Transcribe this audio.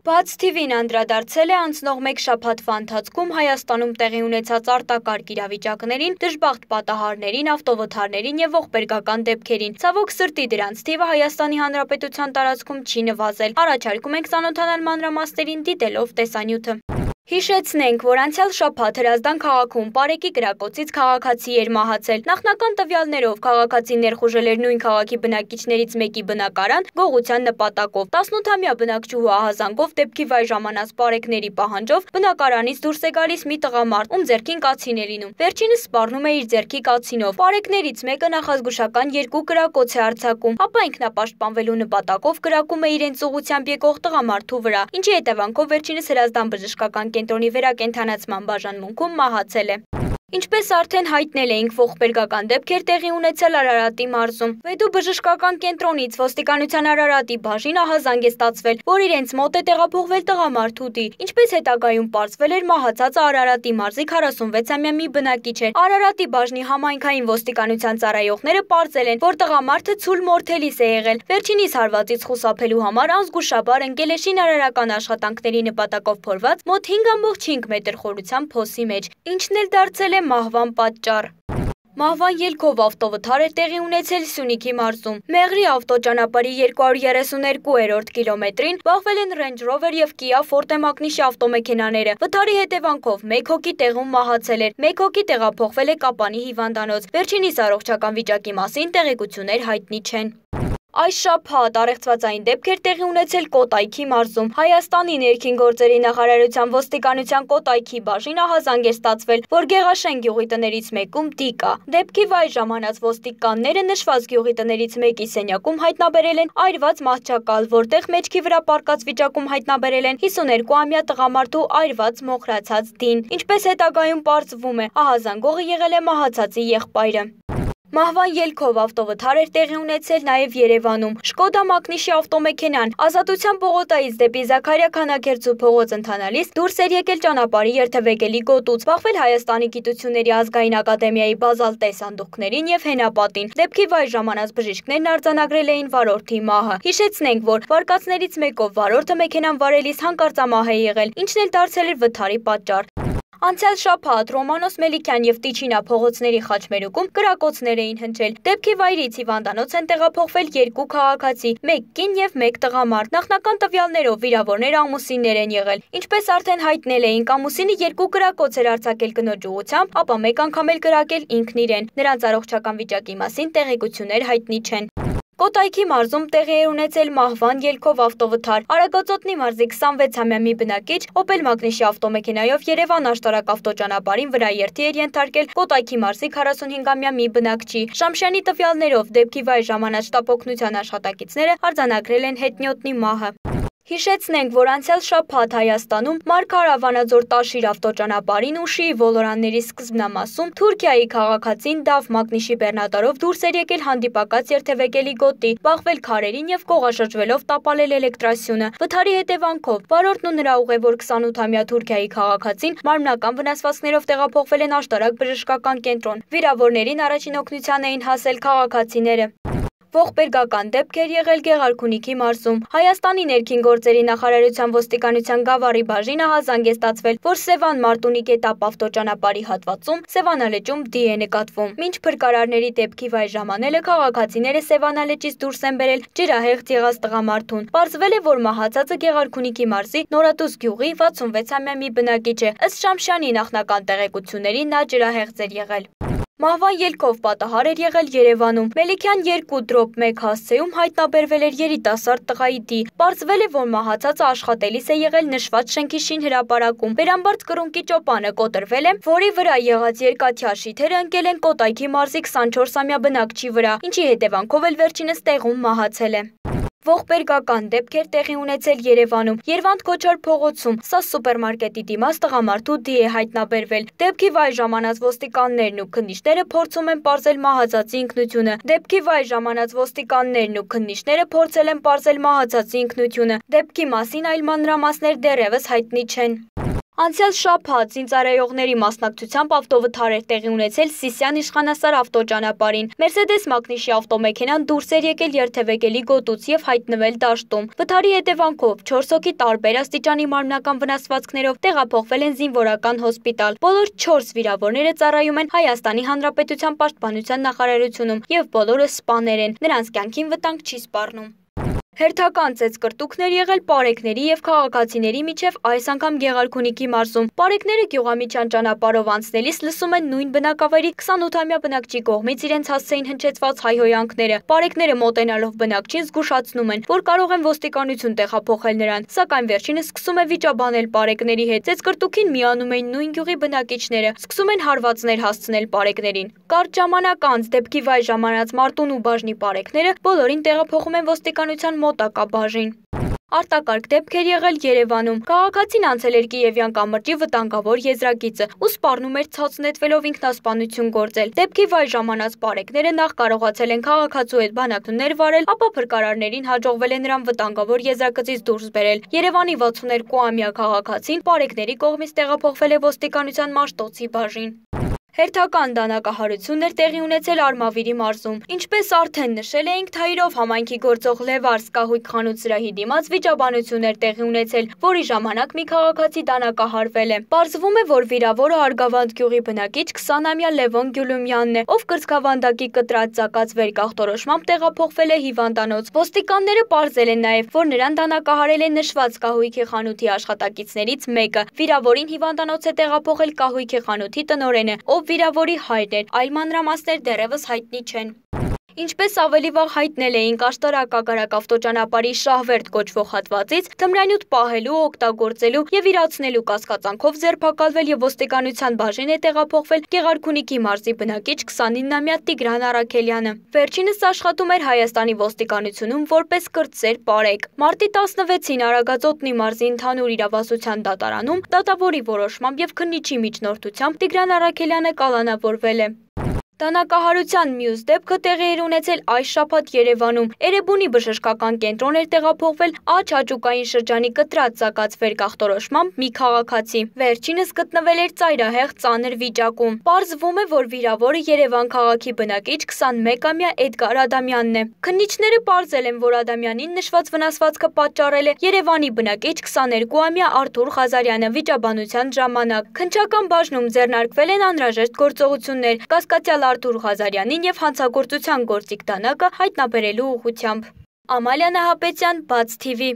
Բաց TV-ն անդրադարձել է անցնող մեկ շաբաթվա ընթացքում Հայաստանում տեղի ունեցած արտակարգ իրավիճակներին, դժբախտ պատահարներին, ավտովթարներին եւ ողբերգական դեպքերին։ Ցավոք սրտի դրանց թիվը Հայաստանի Հանրապետության տարածքում չի նվազել։ Առաջարկում ենք ծանոթանալ մանրամասներին դիտելով տեսանյութը։ Հիշեցնենք, որ անցյալ շաբաթ Հրազդան քաղաքում Պարեկի կրակոցից քաղաքացի էր մահացել։ Նախնական տվյալներով քաղաքացին ներխուժել էր նույն քաղաքի բնակիչներից մեկի բնակարան գողության նպատակով։ 18-ամյա բնակչուհու ահազանգով դեպքի վայր ժամանած պարեկների պահանջով բնակարանից դուրս է գալիս մի տղամարդ, ում ձեռքին կացին է լինում։ Վերջինս սպառնում է իր ձեռքի կացինով։ Պարեկներից մեկը նախազգուշական 2 կրակոց է արձակում, ապա ինքնապաշտպանվելու նպատակով կրակում է իրենց ուղղությամբ եկող տղամարդու վրա, ինչի հետևանքով վերջինս Հրազդան բժշկական կենտրոնի վերակենդանացման բաժանմունքում մահացել է։ Ինչպես արդեն հայտնել էինք, ողբերգական դեպքեր տեղի ունեցել Արարատի մարզում։ Վեդու բժշկական կենտրոնից ոստիկանության Արարատի բաժին ահազանգ է ստացվել, որ իրենց մոտ է տեղափոխվել տղամարդուտի։ Ինչպես հետագայում պարզվել էր, մահացածը Արարատի մարզի 46-ամյա մի բնակիչ էր։ Արարատի բաժնի համայնքային ոստիկանության ծառայողները պարզել են, որ տղամարդը ցուլ մորթելիս է եղել։ Վերջինիս հարվածից խուսափելու համար անզգուշաբար ընկել է շինարարական աշխատանքների նպատակով փորված մոտ 5.5 մետր խորությամբ փոսի մեջ, ինչն էլ դարձել է մահվան պատճառ։ Մահվան ելքով ավտովթար էր տեղի ունեցել Սյունիքի մարզում։ Մեղրի ավտոճանապարհի 232-րդ կիլոմետրին բախվել են Range Rover եւ Kia Forte մակնիշի ավտոմեքենաները։ Վթարի հետևանքով 1 հոգի տեղում մահացել էր, 1 հոգի տեղափոխվել է Կապանի հիվանդանոց։ Վերջինիս առողջական վիճակի մասին տեղեկություններ հայտնի չեն։ Այս շաբաթ առեղծվածային դեպքեր տեղի ունեցել Կոտայքի մարզում։ Հայաստանի ներքին գործերի նախարարության ոստիկանության Կոտայքի բաժին ահազանգ է ստացվել, որ Գեղաշեն գյուղի տներից մեկում տիկ կա։ Դեպքի վայր ժամանած ոստիկանները նշված գյուղի տներից մեկի սենյակում հայտնաբերել են այրված մահճակալ, որտեղ մեջքի վրա պառկած վիճակում հայտնաբերել են 52-ամյա տղամարդու այրված մոխրացած դին։ Ինչպես հետագայում պարզվում է, ահազանգողը եղել է մահացածի եղբայրը։ Մահվան ելքով ավտովթար էր տեղի ունեցել նաև Երևանում։ Շկոդա մակնիշի ավտոմեքենան Ազատության պողոտայից դեպի Զաքարիա Քանաքերձու փողոց ընթանալիս դուրս էր եկել ճանապարհի երթևեկելի գոտուց, բախվել Հայաստանի գիտությունների ազգային ակադեմիայի բազալտե սանդուղքներին եւ հենապատին։ Դեպքի վայր ժամանած բժիշկներն արձանագրել էին վարորդի մահը։ Հիշեցնենք, որ վարկածներից մեկով վարորդը մեքենան վարելիս հանկարծամահ է եղել, ինչն էլ դարձել էր վթարի պատճառ։ Անցյալ շաբաթ Ռոմանոս Մելիքյան եւ Տիչինա փողոցների խաչմերուկում կրակոցներ էին հնչել։ Դեպքի վայրից հիվանդանոց են տեղափոխվել 2 քաղաքացի, 1 կին եւ 1 տղամարդ։ Նախնական տվյալներով վիրավորները ամուսիններ են եղել։ Ինչպես արդեն հայտնել էինք, ամուսինը 2 կրակոց էր արձակել կնոջ ուղղությամբ, ապա 1 անգամ էլ կրակել ինքն իրեն։ Նրանց առողջական վիճակի մասին տեղեկություններ հայտնի չեն։ Կոտայքի մարզում տեղի է ունեցել մահվան ելքով ավտովթար։ Արագածոտնի մարզի 26-ամյա մի բնակիչ Opel մակնիշի ավտոմեքենայով Երևան աշտարակ ավտոճանապարհին վրաերթի էր ենթարկել Կոտայքի մարզի 45-ամյա մի բնակչի։ Շամշյանի տվյալներով դեպքի վայր ժամանած շտապօգնության աշխատակիցները արձանագրել են հետնյոտնի մահը։ Հիշեցնենք, որ անցյալ շաբաթ Հայաստանում Մարգարավանաձոր Տաշիր ավտոճանապարհին Ուշիի ոլորանների սկզբնամասում Թուրքիայի քաղաքացին Դավ մակնիշի բեռնատարով դուրս էր եկել հանդիպակաց երթևեկելի գոտի, բախվել քարերին եւ կողաշրջվելով տապալել էլեկտրասյունը։ Վթարի հետևանքով վարորդն ու նրա ուղևոր 28-ամյա Թուրքիայի քաղաքացին մարմնական վնասվածքներով տեղափոխվել են աշտարակ բժշկական կենտրոն։ Վիրավորներին առաջին օգնության էին հասել քաղաքացիները։ Ողբերգական դեպքեր եղել Գեղարքունիքի մարզում։ Հայաստանի ներքին գործերի նախարարության ոստիկանության Գավառի բաժին ահազանգ է ստացվել, որ Սևան Մարտունի կետապ ավտոճանապարհի հատվածում Սևանալեճում դի է նկատվում։ Մինչ փրկարարների դեպքի վայր ժամանելը քաղաքացիները Սևանալեճից դուրս են բերել ջրահեղձ եղած տղամարդուն։ Պարզվել է, որ մահացածը Գեղարքունիքի մարզի Նորատուս գյուղի 66-ամյա մի բնակիչ է։ Ըստ Շամշյանի նախնական տեղեկությունների նա ջրահեղձ էր եղել։ Մահվան ելքով պատահար էր եղել Երևանում։ Մելիքյան 2/1 հասցեում հայտնաբերվել էր երիտասարդ տղայի դի։ Պարզվել է, որ մահացածը աշխատելիս է եղել նշված շենքի շինհրապարակում։ Վերամբարձ կրունկի ճոպանը կոտրվել է, որի վրա եղած երկաթյա շիթերը ընկել են Կոտայքի մարզի 24-ամյա բնակչի վրա, ինչի հետևանքով էլ վերջինս տեղում մահացել է։ Ողբերգական դեպքեր տեղի ունեցել Երևանում։ Երվանդ Քոչար փողոցում սա սուպերմարկետի դիմաց տղամարդու դի է հայտնաբերվել։ Դեպքի վայր ժամանած ոստիկաններն ու քննիչները փորձում են պարզել մահացածի ինքնությունը։ Դեպքի վայր ժամանած ոստիկաններն ու քննիչները փորձել են պարզել մահացածի ինքնությունը։ Դեպքի մասին այլ մանրամասներ դեռևս հայտնի չեն։ Անցյալ շաբաթ զինծառայողների մասնակցությամբ ավտովթար էր տեղի ունեցել Սիսիան իշխանասար ավտոճանապարհին։ Մերսեդես մակնիշի ավտոմեքենան դուրս էր եկել երթևեկելի գոտուց եւ հայտնվել դաշտում։ Վթարի հետևանքով 4 հոգի տարբեր աստիճանի մարմնական վնասվածքներով տեղափոխվել են զինվորական հոսպիտալ։ Բոլոր 4 վիրավորները ծառայում են Հայաստանի Հանրապետության Պաշտպանության նախարարությունում եւ բոլորը սպաներ են։ Նրանց կյանքին վտանգ չի սպառնում։ Հերթական ծեծկրտուքներ եղել պարեկների եւ քաղաքացիների միջև այս անգամ Գեղարքունիքի մարզում։ Պարեկները գյուղամիջյան ճանապարհով անցնելիս լսում են նույն բնակավայրի 28-ամյա բնակչի կողմից իրենց հասցեին հնչեցված հայհոյանքները։ Պարեկները մոտենալով բնակչին զգուշացնում են, որ կարող են ոստիկանություն տեղափոխել նրան, սակայն վերջինս սկսում է վիճաբանել պարեկների հետ։ Ծեծկրտուքին միանում էին նույն գյուղի բնակիչները, սկսում են հարվածներ հասցնել պարեկներին։ Կարճ ժամանակ անց դեպքի վայր ժամանած Մարտունու բաժնի պարեկները բոլորին տեղափոխում են ոստիկանության մոտակա բաժին։ Արտակարգ դեպքեր եղել Երևանում։ Քաղաքացին անցել էր Կիևյան կամրջի վտանգավոր եզրագիծը ու սպառնում էր ցած նետվելով ինքնասպանություն գործել։ Դեպքի վայր ժամանած պարեկները նախ կարողացել են քաղաքացու հետ բանակցություններ վարել, ապա փրկարարներին հաջողվել է նրան վտանգավոր եզրագծից դուրս բերել։ Երևանի 62-ամյա քաղաքացին պարեկների կողմից տեղափոխվել է ոստիկանության Մաշտոցի բաժին։ Հերթական դանակահարություն էր տեղի ունեցել Արմավիրի մարզում։ Ինչպես արդեն նշել էինք, Թայիրով համայնքի գործող Լևարս կահույք խանութ սրահի դիմաց վիճաբանություն էր տեղի ունեցել, որի ժամանակ մի քաղաքացի դանակահարվել է։ Պարզվում է, որ վիրավորը Արգավանդ գյուղի բնակիչ 20-ամյա Լևոն Գյուլումյանն է, ով կրծքավանդակի կտրած ծակած վերկախտորոշմամբ տեղափոխվել է հիվանդանոց։ Ոստիկանները պարզել են նաև, որ նրան դանակահարել է նշված կահույքի խանութի աշխատակիցներից մեկը։ Վիրավորին հիվանդանոց է տեղափոխել կահույքի խանութի տնօրենը, ով վիրավորի հայրն էր, այլ մանրամասներ դեռևս հայտնի չեն։ Ինչպես ավելի վաղ հայտնել էինք, աշտարակ ավտոճանապարհի Շահվերդ կոչվող հատվածից թմրանյութ պահելու, օգտագործելու եւ իրացնելու կասկածանքով ձերբակալվել եւ ոստիկանության բաժին է տեղափոխվել Գեղարքունիքի մարզի բնակիչ 29-ամյա Տիգրան Առաքելյանը։ Վերջինս աշխատում էր Հայաստանի ոստիկանությունում որպես կրտսեր պարեկ։ Մարտի 16-ին Արագածոտնի մարզի ընդհանուր իրավասության դատարանում դատավորի որոշմամբ եւ քննիչի միջնորդությամբ Տիգրան Առաքելյանը կալանավորվել է։ Դանակահարության մյուս դեպքը տեղի էր ունեցել այս շաբաթ Երևանում։ Էրեբունի բժշկական կենտրոն էր տեղափոխվել Աջ Հաճուկային շրջանի կտրած ծակած վերկախտորոշմամբ մի քաղաքացի։ Վերջինս գտնվել էր ծայրահեղ ծանր վիճակում։ Պարզվում է, որ վիրավորը Երևան քաղաքի բնակիչ 21-ամյա Էդգար Ադամյանն է։ Քննիչները պարզել են, որ Ադամյանին նշված վնասվածքը պատճառել է Երևանի բնակիչ 22-ամյա Արթուր Ղազարյանը վիճաբանության ժամանակ։ Քննչական բաժնում ձեռնարկվել են անհրաժեշտ գործողություններ կասկածյալ Արթուր Ղազարյանին եւ հանցագործության գործիք դանակը հայտնաբերելու ուղղությամբ։ Ամալիա Նահապետյան, Բաց TV։